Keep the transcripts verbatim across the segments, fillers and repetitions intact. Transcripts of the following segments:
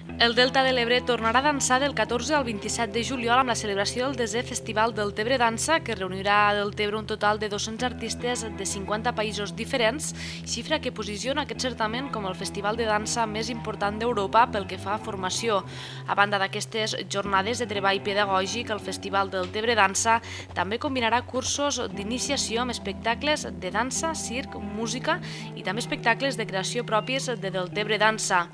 El Delta de l'Ebre tornarà a dansar del catorze al vint-i-set de juliol amb la celebració del desè Festival del Tebre Dansa, que reunirà a Deltebre un total de dos-cents artistes de cinquanta països diferents, xifra que posiciona aquest certamen com el festival de dansa més important d'Europa pel que fa a formació. A banda d'aquestes jornades de treball pedagògic, el Festival del Tebre Dansa també combinarà cursos d'iniciació amb espectacles de dansa, circ, música i també espectacles de creació propis de Deltebre Dansa.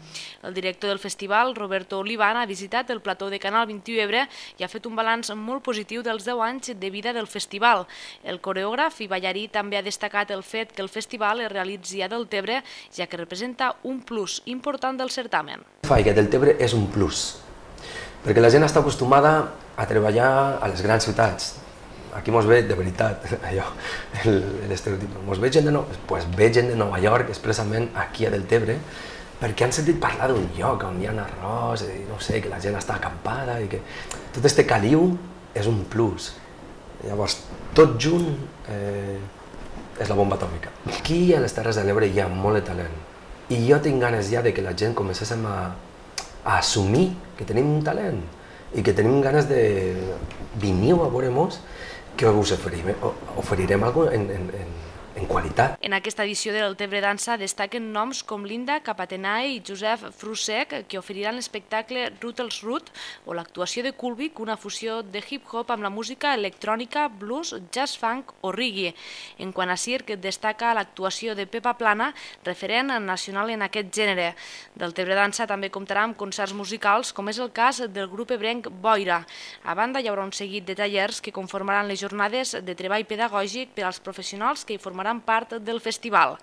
El director del festival, Roberto Olivan, ha visitat el plató de Canal vint-i-u Ebre i ha fet un balanç molt positiu dels deu anys de vida del festival. El coreògraf i ballarí també ha destacat el fet que el festival es realitzi a Deltebre, ja que representa un plus important del certamen. I que Deltebre és un plus, perquè la gent està acostumada a treballar a les grans ciutats. Aquí mos ve de veritat, allò, l'estereotip. Mos ve gent de, no... pues ve gent de Nova York expressament aquí a Deltebre, perquè han sentit parlar d'un lloc on hi ha arròs, i no sé, que la gent està acampada i que tot este caliu és un plus. Llavors, tot junt eh, és la bomba atòmica. Aquí a les Terres de l'Ebre hi ha molt de talent i jo tinc ganes ja de que la gent comencéssim a, a assumir que tenim un talent i que tenim ganes de veniu a veure-mos que us oferirem, oferirem alguna cosa en, en, en en qualitat. En aquesta edició del Tebre Dansa destaquen noms com Linda Capatenae i Josep Frusec, que oferiran l'espectacle Rutles Rut o l'actuació de Kulvik, una fusió de hip-hop amb la música electrònica, blues, jazz funk o reggae. En quant a circ, destaca l'actuació de Pepa Plana, referent nacional en aquest gènere. Del Tebre Dansa també comptarà amb concerts musicals, com és el cas del grup ebrenc Boira. A banda, hi haurà un seguit de tallers que conformaran les jornades de treball pedagògic per als professionals que hi formaran part del festival.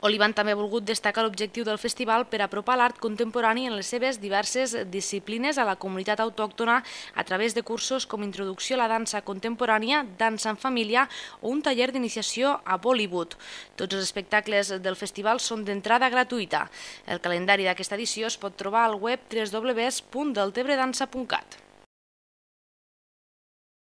Olivan també ha volgut destacar l'objectiu del festival per apropar l'art contemporani en les seves diverses disciplines a la comunitat autòctona a través de cursos com Introducció a la dansa contemporània, dansa en família o un taller d'iniciació a Bollywood. Tots els espectacles del festival són d'entrada gratuïta. El calendari d'aquesta edició es pot trobar al web w w w punt deltebredansa punt cat.